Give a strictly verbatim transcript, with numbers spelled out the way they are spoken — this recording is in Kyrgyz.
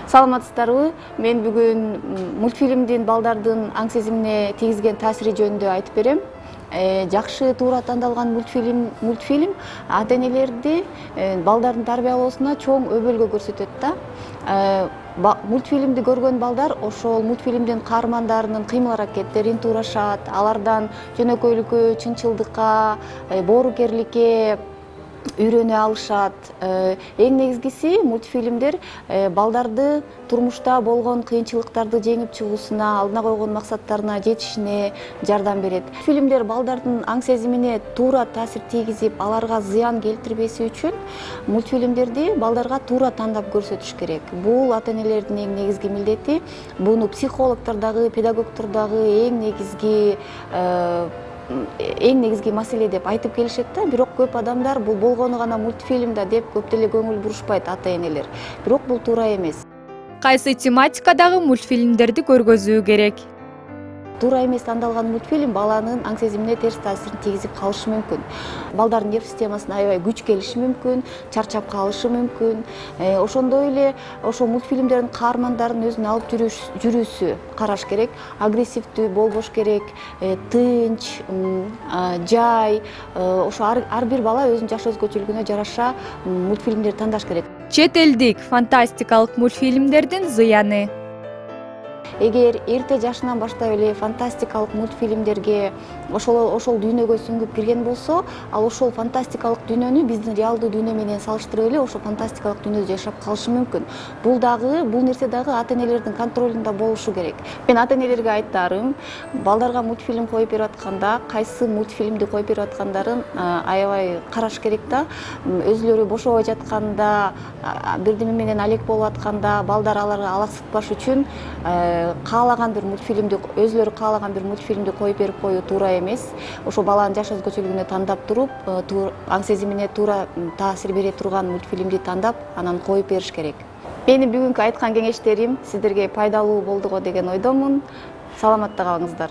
Саламатсыздарбы? Мен бүгүн мультфильмдин балдардын аң сезимине тийгизген таасири жөнүндө айтып берем. Жакшы, туура тандалган мультфильм мультфильм ата-энелерди балдардын тарбиялоосуна чоң өбөлгө көрсөтөт да. Мультфильмди көргөн балдар ошол мультфильмдин каармандарынын кыймыл-аракеттерин туурашат, алардан жөнөкөйлүккө, чынчылдыкка, боорукерликке үйрөнө алышат. Эң негизгиси мультфильмдер балдарды турмушта болгон кыйынчылыктарды жеңип чыгуусуна, алдына койгон максаттарына жетишине жардам берет. Фильмдер балдардын аң сезимине туура таасир тийгизип, аларга зыян келтирбеси үчүн мультфильмдерди балдарга туура тандап көрсөтүш керек. Бул ата-энелердин эң негизги милдети. Буну психологдор дагы, педагогдор дагы эң негизги эң негизги маселе деп айтып келишет да, бирок көп адамдар бул болгону гана мультфильм да деп көп деле көңүл бурушпайт ата-энелер. Бирок бул туура эмес. Кайсы тематикадагы мультфильмдерди көргөзүү керек? Туура эмес тандалган мультфильм баланын аң сезимине терс таасирин тийгизип калышы мүмкүн. Балдардын нерв системасына аябай күч келиши мүмкүн, чарчап калышы мүмкүн. Ошондой эле ошол мультфильмдердин каармандарын өзүнө алып жүрүүсү караш керек. Агрессивдүү болбош керек, тынч, жай. Ошо ар бир бала өзүнүн жаш өзгөчөлүгүнө жараша мультфильмдерди тандаш керек. Чет элдик фантастикалык мультфильмдердин зыяны. Эгер эрте жашынан баштап эле фантастикалык мультфильмдерге ошол ошол дүйнөгө сүңгүп кирген болсо, ал ошол фантастикалык дүйнөнү биздин реалдуу дүйнө менен салыштырып эле ошол фантастикалык дүйнөдө жашап калышы мүмкүн. Бул дагы, бул нерсе дагы ата-энелердин контролунда болушу керек. Мен ата-энелерге айтарым, балдарга мультфильм коюп берип атканда, кайсы мультфильмди коюп берип аткандарын аябай караш керек да. Өзүлөрү бошобой жатканда, бирдеме менен алек болуп атканда, балдар аларга алаксытпаш үчүн каалаган бир мультфильмди, өзүлөрү каалаган бир мультфильмди коюп берип коюу туура эмес. Ошо баланын жаш өзгөчөлүгүнө тандап туруп, аң сезимине туура таасир бере турган мультфильмди тандап, анан коюп бериш керек. Менин бүгүнкү айткан кеңештерим сиздерге пайдалуу болду го деген ойдомун. Саламатта калыңыздар.